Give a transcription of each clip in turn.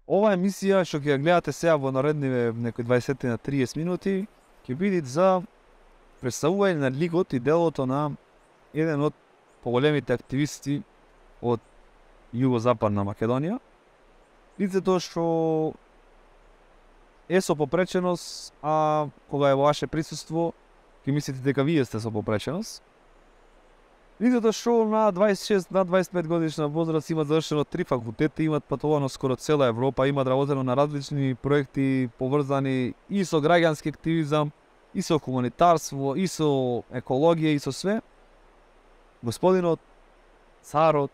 Ова емисија што ќе ја гледате сега во наредниве некои 20 на 30 минути ќе биде за представување на ликот и делото на еден од поголемите активисти од Југозападна Македонија. Лицето што е со попреченост, а кога е во ваше присуство ќе мислите дека вие сте со попреченост. Лицето што на 26, на 25 годишна возраст имат завршено 3 факултети, имат патувано скоро цела Европа, имат работено на различни проекти поврзани и со граѓански активизам, и со хуманитарство, и со екологија, и со све. Господинот, царот,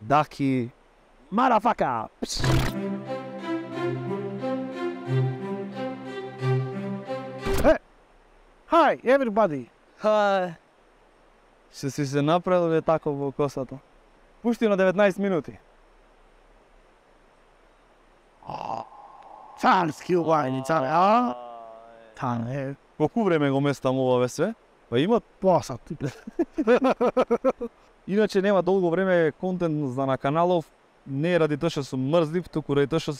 Даки, марафака! Hi, everybody. Ще си се направил тако во косата. Пушти на 19 минути. Царски угајни, царе, а? Тане, Колку време го местам ова све? Па има. посат. Иначе нема долго време контент за на каналов, не ради тоа што сум мрзлив, туку ради тоа што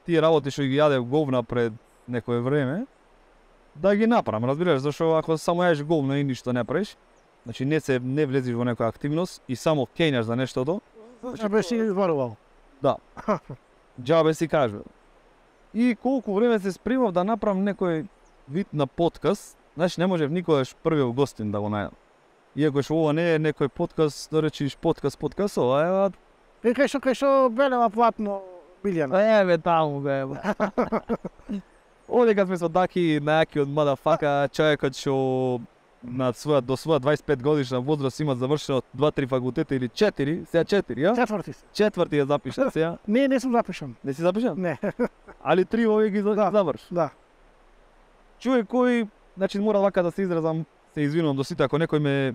тие работи што ги јадев говна пред некое време, да ги направам, разбираш, зашто ако само јадеш говна и ништо не правиш, значи не влезиш во некоја активност и само кењаш за нештото, Што беше изборувал? да, џабе си кажувам. И колку време се спремав да направам некој вид на подкаст, значи не можев никогаш првиот гостин да го најдам. Иако што ова не е некој подкаст, да речиш подкаст, ова е Кај што белева платно Билјана. Еве таму бе. Одека сме со Даки, најакиот мадафака, човекот што до своја 25 годишна возраст има завршено 2-3 факултета или 4, сега 4, ја? Четврти се. Четврти ја запишан сега. Не сум запишан. Не си запишан? Не. Али 3 овие ги заврш. Да. Човек кој, значи мора вака да се изразам, се извинувам до сите ако некој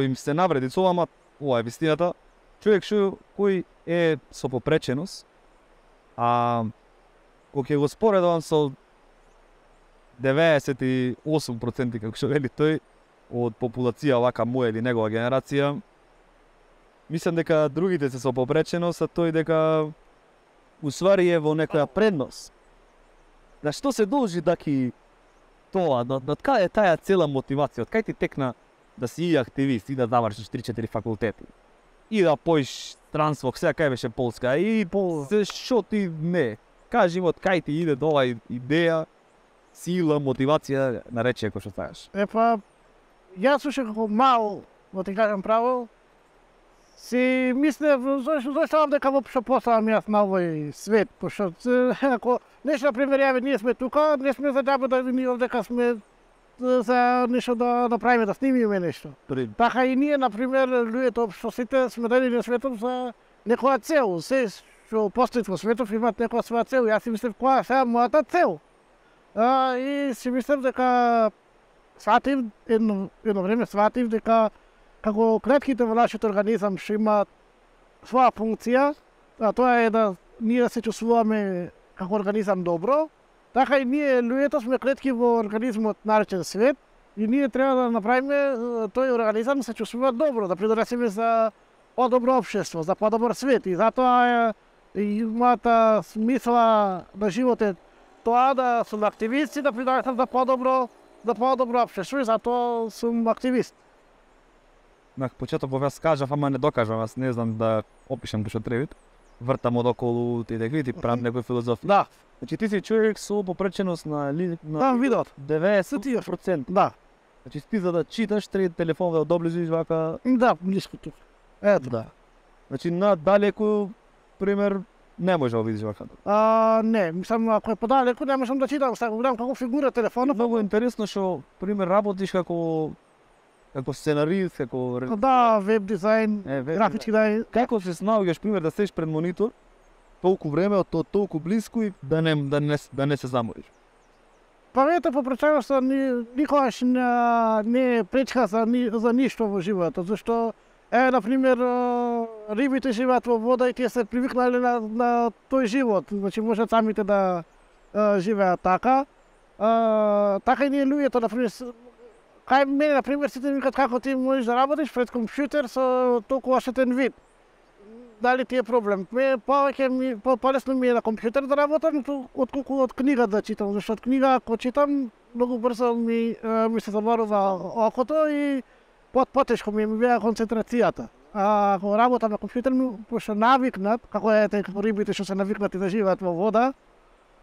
им се навреди со ова, ова е вистината. Човек кој е со попреченост, а кога ќе го споредувам со 98% како што вели тој од популација вака моја или негова генерација, мислам дека другите се со попреченост, а тој дека усвари е во некоја предност. На што се должи Даки тоа, од каде е таа цела мотивација, од кај ти текна да си и активист и да завршиш 3-4 факултети? И да поиш странство, сега кај беше Полска, и се шо ти не. Кажи од кај ти иде тоа идеја, сила, мотивација, наречи кој што сакаш. Јас уште како мал, во ти кажам право, си мислев зошто дека вопшто поставам јас на овој свет, пошто ако нешто на пример јаве ние сме тука, не сме за џабе да ни дека сме за нешто да направиме, да снимиме нешто. Така и ние на пример луѓето што сите сме дали на светот за некоја цел, се што постои во светот имаат некоја своја цел. Јас си мислев која е мојата цел. И си мислев дека сватив едно време дека како клетките во нашиот организам што имаат своја функција, а тоа е да ние да се чувствуваме како организам добро, така и ние луѓето сме клетки во организмот наречен свет и ние треба да направиме тој организам да се чувствува добро, да придонесеме за подобро општество, за подобар свет и затоа и мојата смисла на живот е тоа да сум активист и да придонесам за подобро општество и затоа сум активист. На почеток јас кажав, ама не докажам, аз не знам да опишам што треба. Вртам одоколу ти да правам некој филозофија. Да. Значи ти си човек со попреченост на видот. 90%. Да. Значи ти за да читаш треба телефон да доближиш вака. Да, блиско тука. Ето. Да. Значи на далеку пример не може да видиш вака. Не, мислам ако е подалеку не можам да читам, сега гледам како фигура телефонот. Многу интересно што пример работиш како сценарист, како да, веб дизајн, графички дизајн. Како се снаоѓаш пример да седиш пред монитор толку време од толку блиску и да не се замориш? Ето попреченоста никогаш не пречка за ништо во животот, зашто на пример рибите живеат во вода и тие се привикнале на тој живот, значи можат самите да живеат така. Така и ние луѓето на пример кај мене на пример сите ми викаат како ти можеш да работиш пред компјутер со толку оштетен вид. дали ти е проблем. Полесно ми е на компјутер да работам отколку од книга да читам, зашто од книга ако читам многу брзо ми се заморува окото и потешко ми беа концентрацијата. А ако работам на компјутер, пошто навикнат, како како рибите што се навикнати да живеат во вода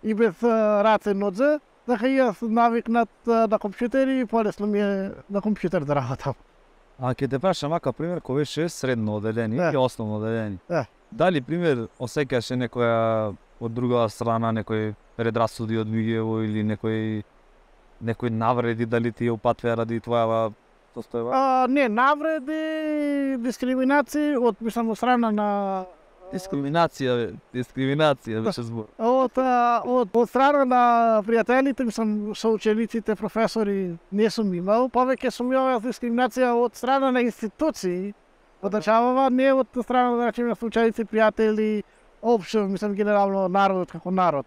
и без раце нодзе, дека и јас навикнат на компјутер и полесно ми е на компјутер да работам. А ќе те прашам вака пример кој беше средно одделение и основно одделение. Дали пример осеќаше некоја од друга страна некој предрасуди од вигево или некој навреди, дали ти ја упатваа ради твоја состојба? Не, навреди, дискриминации од страна на Дискриминација беше збор. Од страна на пријателите, со учениците, професори, не сум имал. Повеќе сум имал дискриминација од страна на институции од државава, не од страна да речеме ученици, пријатели, општо, генерално народот како народ.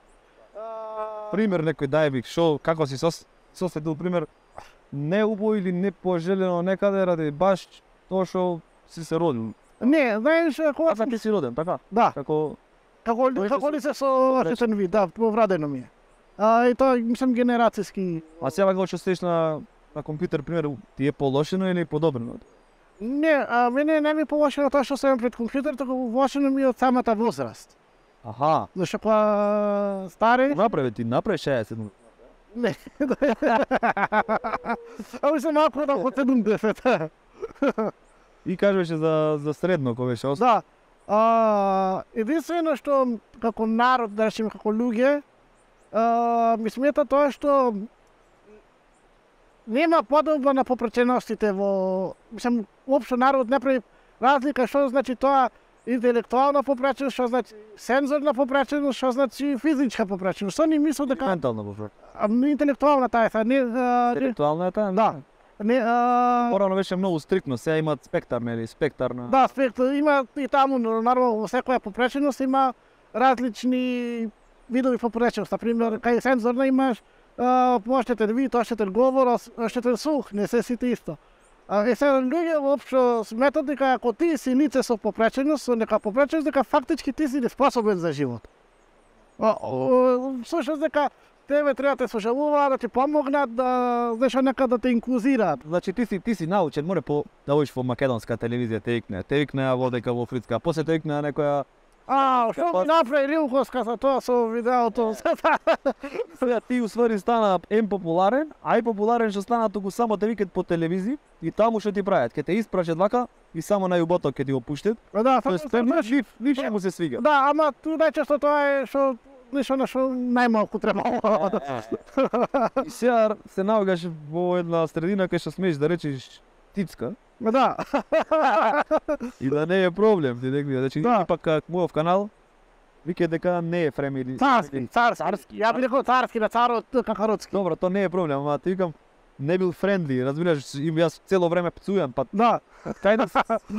Пример некој дај би, како си соследил пример не убаво или не пожелено некаде ради баш тоа што си се родил. Не, знаеш, кога ти си роден, така? Да. Како лице со ошетен вид, да, повредено ми е. И тоа, генерацијски. А сега кога што стоиш на компјутер, пример, ти е полошено или подобрено? Не, мене не ми полошено тоа што сум пред компјутер, туку влошено ми од самата возраст. Аха. Зашто кога стари... Ти направи 60. Не. Сум малку од 70. И кажеше за средно кој беше Да. Единствено што како народ, да речеме како луѓе, ми смета тоа што нема подобба на попреченостите во... Уопшто народ не прави разлика што значи тоа интелектуална попреченост, што значи сензорна попреченост, што значи физичка попреченост. Што ни мислам дека... Ментална попреченост. Интелектуална таа е, интелектуална е таа? Да. Порано беше многу стриктно, сега имаат спектар, нели, спектар на... Да, спектар, има и таму, нормално, во секоја попреченост има различни видови попреченост. Например, кај сензорна имаш поштетен вид, оштетен говор, оштетен слух, не се сите исто. Сега луѓе воопшто сметат дека ако ти си лице со попреченост, со нека попреченост, дека фактички ти си неспособен за живот. Слушаш дека тебе треба да те сожалуваат, да ти помогнат, да нешто нека да те инклузираат. Значи ти си научен, море да одиш во македонска телевизија, те викнеа водека во Фрицка, а после те викнеа некоја... Што ми направи Рилковска за тоа со видеото? Сега ти усвари стана популарен, а и популарен што стана туку само те викат по телевизија и таму што ти прават, ќе те испрашат вака и само на јуботот ќе ти го пуштат. Да, ништо му се свига. Да, ама ту најчесто тоа е што нешто на што најмалку треба. И сега се наоѓаш во една средина кај што смееш да речеш тицка. Да. И да не е проблем, ти декли, значи пак мојов канал вика дека не е фремили. Царски. Ја би рекол царски на царот Какароцки. Добро, тоа не е проблем, ама ти викам не бил френдли, разбираш, јас цело време пцујам, па да. Кај да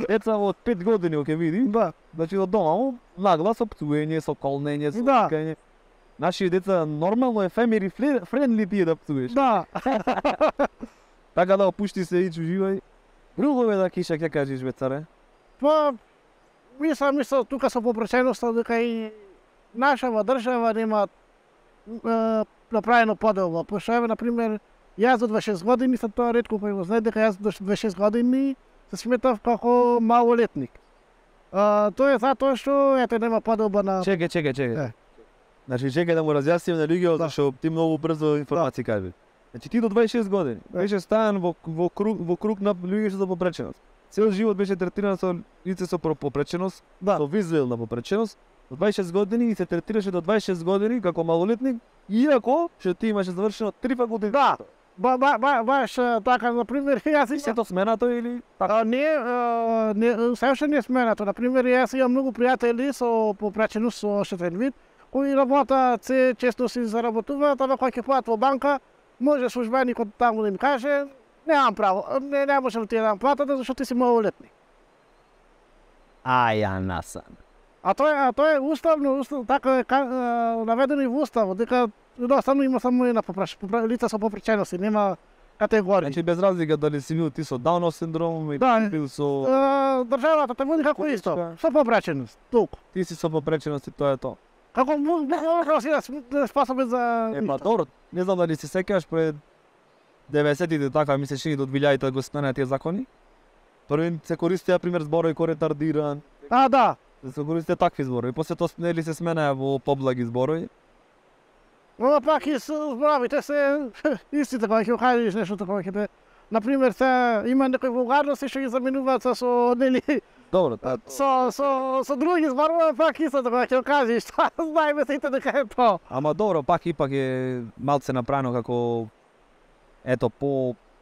деца од 5 години ќе види, да. Значи од дома наглас со пцуење, со колнење, со викање. Наши деца нормално е фемили френдли тие да пцуеш. Да. Така да опушти се и уживај. Друго е да киша, ќе кажеш бе царе? Па, мислам тука со попреченоста дека и нашава држава нема направено поделба. Пошто еве, например, јас до 26 години, сад тоа ретко кој го знае дека јас до 26 години се сметав како малолетник. Тоа е затоа што ете нема поделба на... Чекај. Значи чекај да му разјасним на луѓето, зашто ти многу брзо информации кажи. Значи ти до 26 години беше стајан во круг на луѓе со попреченост. Цел живот беше третиран со лице со попреченост, со визуелна попреченост. До 26 години и се третираше до 26 години како малолетник, иако што ти имаше завршено 3 факултети. Да. Баш така, например, јас сето сменато или така? Не, се не сменато. Например, јас имам многу пријатели со попреченост, со оштетен вид, кои работат, се често си заработуваат, ама кога ќе појат во банка, може службеникот таму да им каже, немам право, не можам ти да дам платата, зашто ти си малолетник. Ја насан. А тоа е уставно, така е наведено и во уставот, дека едноставно има само една лица со попречености, нема категории. Значи без разлика дали си бил ти со Даунов синдром и Да. бил со Државата те води како исто, со попреченост, толку. ти си со попреченост и тоа е тоа. Како може да способен за... Па добро, не знам дали се сеќаваш пред 90-тите така мислиш и до 2000-те да го сменаа тие закони. Први се користеа пример зборови кој ретардиран, Да. се користеа такви зборови. После тоа нели се сменаа во поблаги зборови. Но пак и зборовите се истите кога ќе кажеш нешто такова ќе те... Например, се има некои вулгарности што ги заменуваат со нели Добро, тоа со други зборови, пак исто кога ќе кажеш, знаеме сите дека е тоа. ама добро, пак ипак е малце направено како ето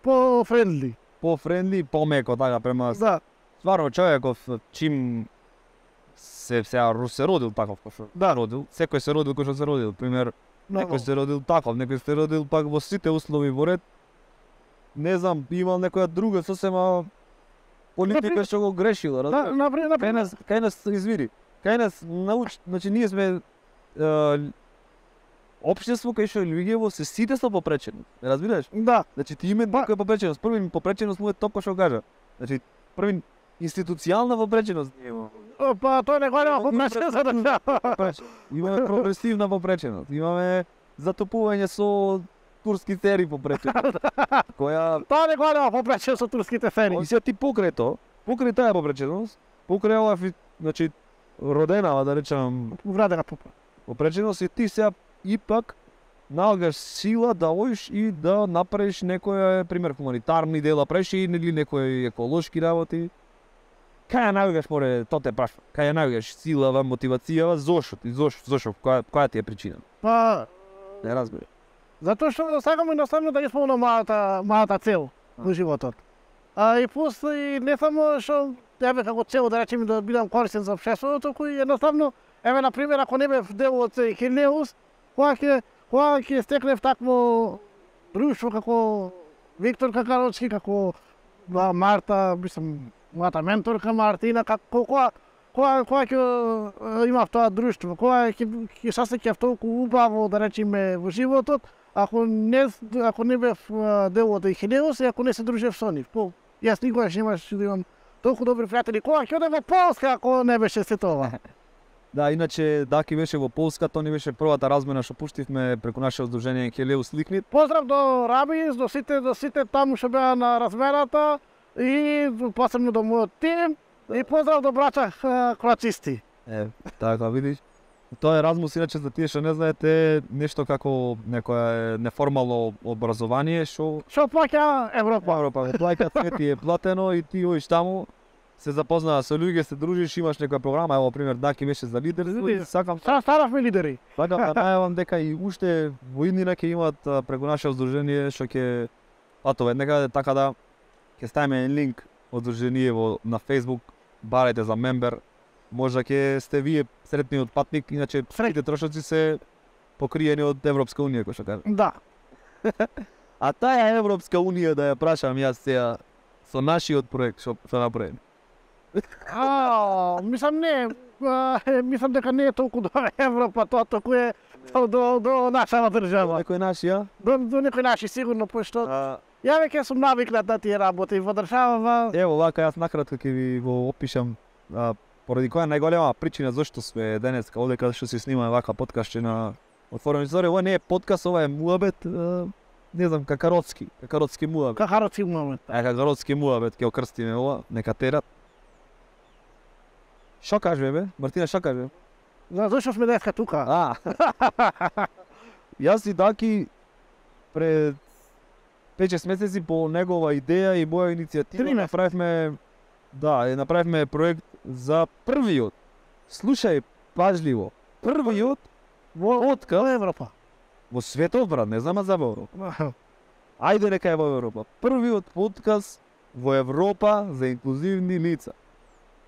По-френдли. по-френдли, помеко така према Да. стварно човеков чим се родил таков кој што Да. родил, секој се родил кој што се родил, пример Многу. некој се родил таков, некој се родил пак во сите услови во ред. Не знам, имал некоја друга сосема политика Например- што го грешила, Да, разбираш? Кај нас извини, кај нас значи ние сме општество кај што луѓето се сите со попреченост, разбираш? Да. Значи ти име некоја попреченост, први попреченост му е тоа што кажа. Значи први институционална попреченост ние имаме. Па тој не го нема попреченост за држава. Имаме прогресивна попреченост, имаме затопување со турски тери попреченост. Која Тоа не го нема попреченост со турските фери. и сега ти покрај таа попреченост, покрај ова значи родена, да речам, Врадена попа. попреченост и ти сега ипак наоѓаш сила да одиш и да направиш некоја пример хуманитарни дела, правиш и нели некои еколошки работи. Кај ја наоѓаш море, тоа те прашам. Кај ја наоѓаш силава, мотивацијава, зошто, која ти е причина? Па Не разбирам. затоа што сакам едноставно да исполнам малата цел во животот. И после не само што еве како цел да речеме да бидам корисен за општеството, туку и едноставно еве на пример ако не бев дел од Хинеус, кога ќе стекнев такво друштво како Виктор Какароцки, како Марта, мислам, мојата менторка Мартина, кога ќе имав тоа друштво, кога ќе сасеќав толку убаво да речеме во животот, ако не бев дел од Хинеус и ако не се дружев со нив. Јас никогаш немаш да имам толку добри пријатели. Кога ќе одам во Полска ако не беше се тоа? Да, иначе Даки беше во Полска, тоа не беше првата размена што пуштивме преку наше здружение Хелеус Ликнит. Поздрав до Рабис, до сите таму што беа на размената и посебно до мојот тим и поздрав до браќа клацисти. Така видиш. Тоа Еразмус, иначе за тие што не знаете, нешто како некое неформално образование што Што плаќа Европа. Европа плаќа, све ти е платено и ти одиш таму, се запознаа со луѓе, се дружиш, имаш некоја програма, ево пример Даки беше за лидерство и сакам Стававме лидери. сакам да најавам дека и уште во иднина ќе имаат преку наше здружение што ќе патува некаде, така да ќе ставиме линк од здружение на Facebook, барајте за мембер. Можда ќе сте вие сретниот патник, иначе сите трошоци се покриени од Европска унија, кој што кажа. Да. А таа Европска унија да ја прашам јас сега со нашиот проект што направи. Мислам не, мислам дека не е толку до Европа, тоа толку е до нашава држава. Некој наш, ја? До некој наши сигурно, пошто ја веќе сум навикнат на тие работи во држава. Ево, вака јас накратко ќе ви го опишам поради која најголема причина зашто сме денеска овде каде што се снима вака подкастче на Отворени зори. Ова не е подкаст, ова е муабет, не знам, какаротски муабет. Какаротски момент. Какаротски муабет ќе окрстиме ова, нека терат. Што кажеш бе? Мартина, што кажеш? Зашто сме денеска тука? Јас и Даки пред 5-6 месеци по негова идеја и моја иницијатива направивме проект за првиот. Слушај пажливо. Првиот Откако Европа? во светот, брат, не знам за Европа. Ајде нека е во Европа. Првиот подкаст во Европа за инклузивни лица.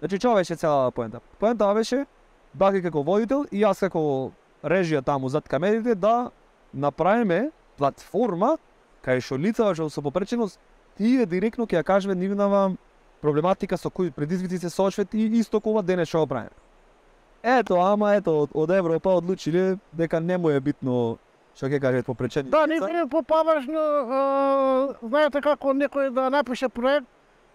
Значи, што беше целата поента? Поента беше Даки како водител и јас како режија таму зад камерите да направиме платформа кај што лицата што со попреченост тие директно ќе ја кажеме нивнава проблематика со кои предизвици се соочват и исто кога денес што го правиме. Ето од Европа одлучиле дека не му е битно Што ќе кажат попречени? Да, не е поважно, знаете како некој да напише проект,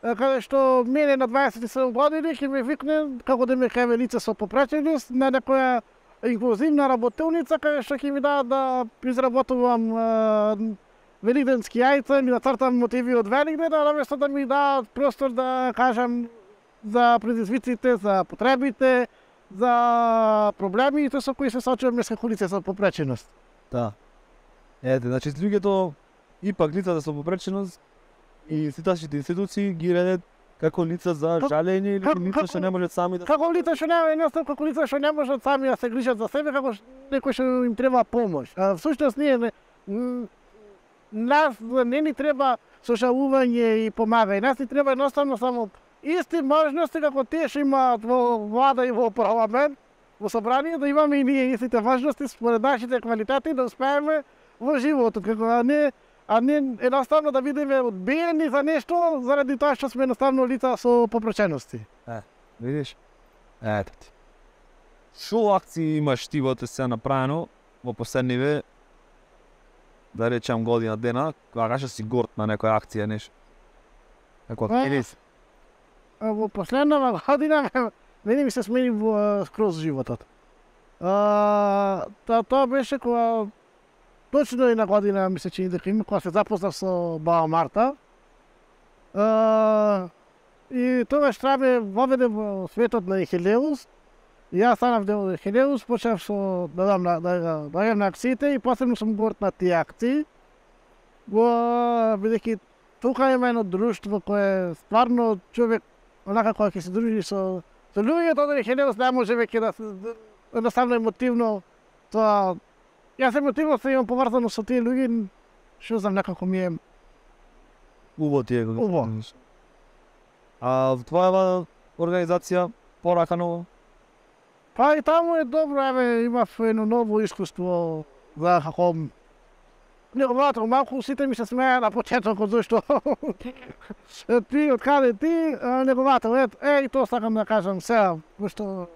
каде што мене на 27 години ќе ме викне како да ме кајве лице со попреченост на некоја инклузивна работилница каде што ќе ми дадат да изработувам великденски јајца, ми нацртам мотиви од Великден, а наместо да ми дадат простор да кажам за предизвиците, за потребите, за проблемите со кои се соочуваме како лице со попреченост. Да. Ете, значи луѓето ипак лицата со попреченост и ситашните институции ги редат како лица за жалење или лица што не можат сами да... Како лица што не, едноставно како лица што не можат сами да се грижат за себе, како некој што им треба помош. А всушност ние нас не ни треба сошалување и помагање. Нас ни треба едноставно само исти можности како тие што имаат во влада и во парламент, во собрание, да имаме и ние истите важности според нашите квалитети да успееме во животот, како а не едноставно да бидеме одбиени за нешто заради тоа што сме едноставно лица со попречености. Видиш? Ето ти. Шо акции имаш ти во се направено во последниве, да речам година дена, кога кажа си горд на некоја акција нешто? Како активист? Во последнава година мене ми се смени скроз животот. Тоа беше кога точно една година ми се чини дека има кога се запознав со баба Марта. И тогаш Трабе воведе во светот на Ехелеус. И јас станав дел од Ехелеус, почнав со да дадам на акциите и посебно сум горд на тие акции. Бидејќи тука има едно друштво кое стварно човек онака кога ќе се дружи со луѓето од Ехелеус не може веќе да едноставно емотивно тоа. Јас емотивно се имам поврзано со тие луѓе, што знам некако ми е Убаво ти е. убаво. А твоја организација поракано? Па и таму е добро, еве имав едно ново искуство за како неговото малку сите ми се смеа на почетокот зашто ти откаде ти неговото и тоа сакам да кажам сега, пошто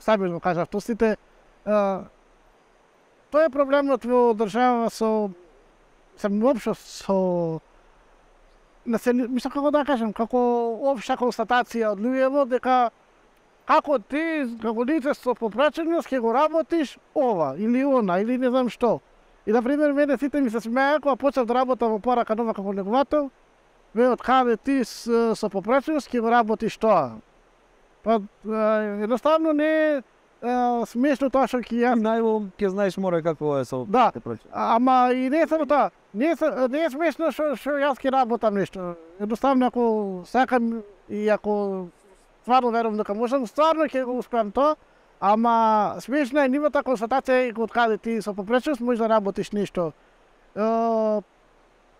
сами го кажав, тоа сите тоа е проблемот во држава со воопшто со мислам како да кажам, како општа констатација од луѓето дека како ти, како лице со попреченост, ќе го работиш ова или она, или не знам што. И, например, мене сите ми се смеја кога почнав да работам во порака нова како неговател, од каде ти со попреченост ќе го работиш тоа. Па, едноставно не е смешно тоа што ќе јас... Најво ќе знаеш море какво е со... Да, ама и не само тоа. Не е смешно што јас ќе работам нешто. Едноставно ако сакам и ако стварно верувам дека можам, стварно ќе го успеам тоа, ама смешна е нивната констатација од каде ти со попреченост можеш да работиш нешто.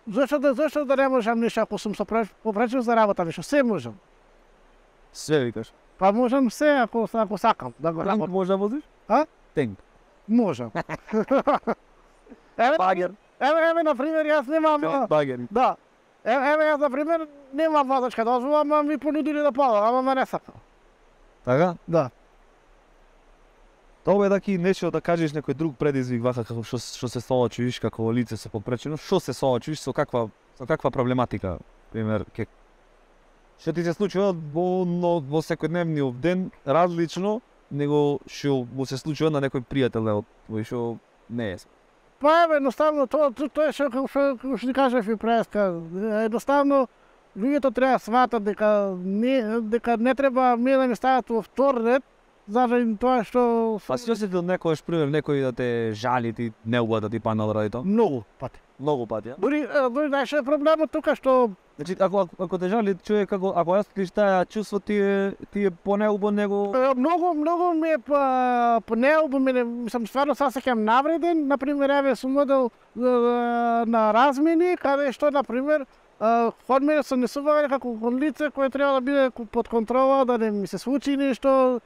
Зошто да не можам нешто ако сум со попреченост да работам нешто? Се можам. Све викаш. Па можам се ако сакам да го работам. Танк може да возиш? А? Тенк. Можам. Багер. Еве, например, јас немам... Багер. Да. Еве, јас, например, немам возачка дозвола, ама ми понудили да подам, ама ме не сакам. Така? Да. Тоа е даки нешто да кажеш некој друг предизвик вака како што се соочуваш како лице со попреченост, што се соочуваш со каква проблематика, пример, што ти се случува во секојдневниот ден различно него што му се случува на некој пријател од твој што не е. Па еве, едноставно тоа е што ти кажав и преска. Едноставно луѓето треба да сватат дека не треба ми да не стават во втор ред заради тоа што... Па си осетил некојаш пример некој да те жали ти неуба да ти паднал ради тоа? Многу пати. Многу пати, а? Дури знаеш проблемот тука што... Значи, ако те жали човек, ако осетиш таа чувство, ти е понеубо него... Многу ми е понеубо, мислам, стварно се сеќам навреден, например, еве сум одел на размени, каде што, например, од мене се несување како кон лице кое треба да биде под контрола, да не ми се случи нешто,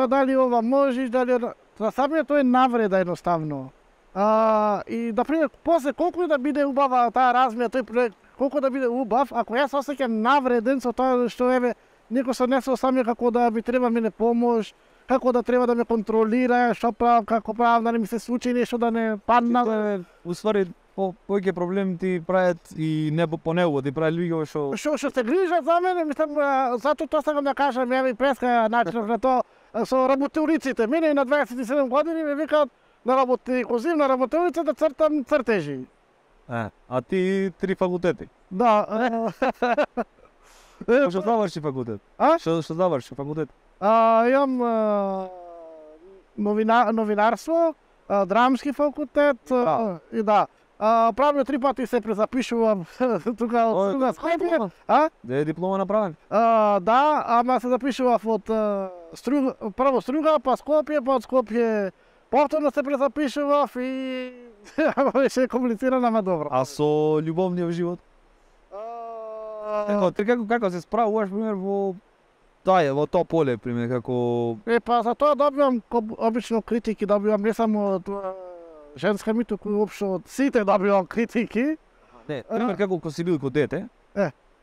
дали ова можеш, дали... За самиот тоа е навреда едноставно. И, например, после колку и да биде убава таа размена, тој проект, колку да биде убав, ако јас осеќам навреден со тоа што еве некој се однесува со мене како да би треба мене помош, како да треба да ме контролира, што правам, како правам, да не ми се случи нешто да не падна. Уствари, повеќе проблеми ти прават и не по него, ти прави луѓе што Што се грижат за мене, мислам, затоа тоа сакам да кажам, ја ми преска начинов на тоа со работеуриците. Мене на 27 години ми викаат на работеурици, на работеурица да цртам цртежи. А ти 3 факултети. Да. Што заврши факултет? А? Што заврши факултет? Имам новинарство, драмски факултет и да. Правилно 3 пати се презапишувам тука од Скопје. Де е диплома направен? Да, ама се запишував од прво Струга, па Скопје, па од Скопје повторно се презапишував и беше комплицирано, ама добро. А со љубовниот живот? Како се справуваш, пример, во тоа поле, пример, како... Па за тоа добивам, обично критики добивам не само од женска ми, туку уопшто од сите добивам критики. Не, пример, како си бил ко дете,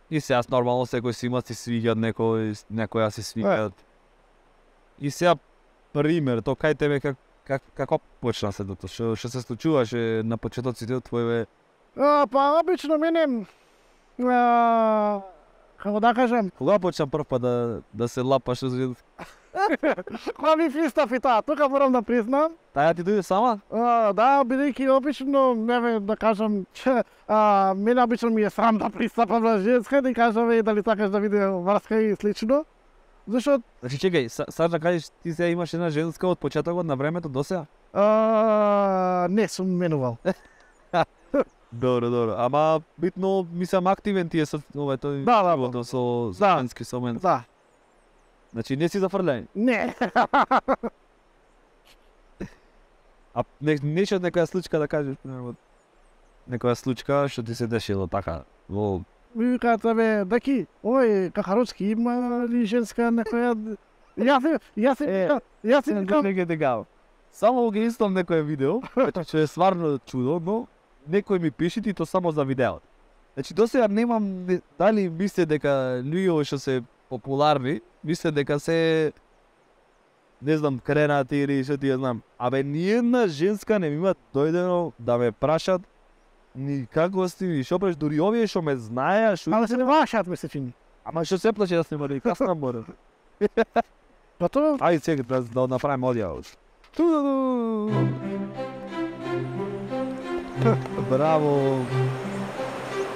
и сега нормално секој си има, си свиѓат некоја си свиѓат. И сега, пример, то кај тебе како почна се тоа? Што се случуваше на почетоците од твоеве? Па обично мене како да кажам, Кога почна прв пат да се лапаш со женски? кога ми пристав и таа, тука морам да признам. Таја ти дојде сама? Да, бидејќи обично, да кажам, мене обично ми е срам да пристапам на женска, да кажам дали сакаш да види врска и слично. Зашто... Значи, чекај, саш да кажеш, ти сега имаш една женска од почетокот на времето до сега? Не сум менувал. Добро. Ама битно, мислам, активен ти е со тој животот со женски со мен. Да. Значи, не си зафрлен. Не. А нешто некоја случка да кажеш, примерно, некоја случка што ти се дешило така во... Ми викаат, даки, Кахаровски има ли женска некоја... Јас си викам... Само ги истом некој видео, што е стварно чудо, но некој ми пише и то само за видеото. Значи, досега немам, дали мисле дека луѓе што се популарни, мисле дека се, не знам, кренати или што ти ја знам. Абе, ниедна женска не ми има дојдено да ме прашат ни како си, ни шо преш, дури овие што ме знаеа, што... Ама се не вашат, ме се чини. Ама што се плаче да сме мали, касна мора. Готово? Ајде сега да направим одјавот. Браво!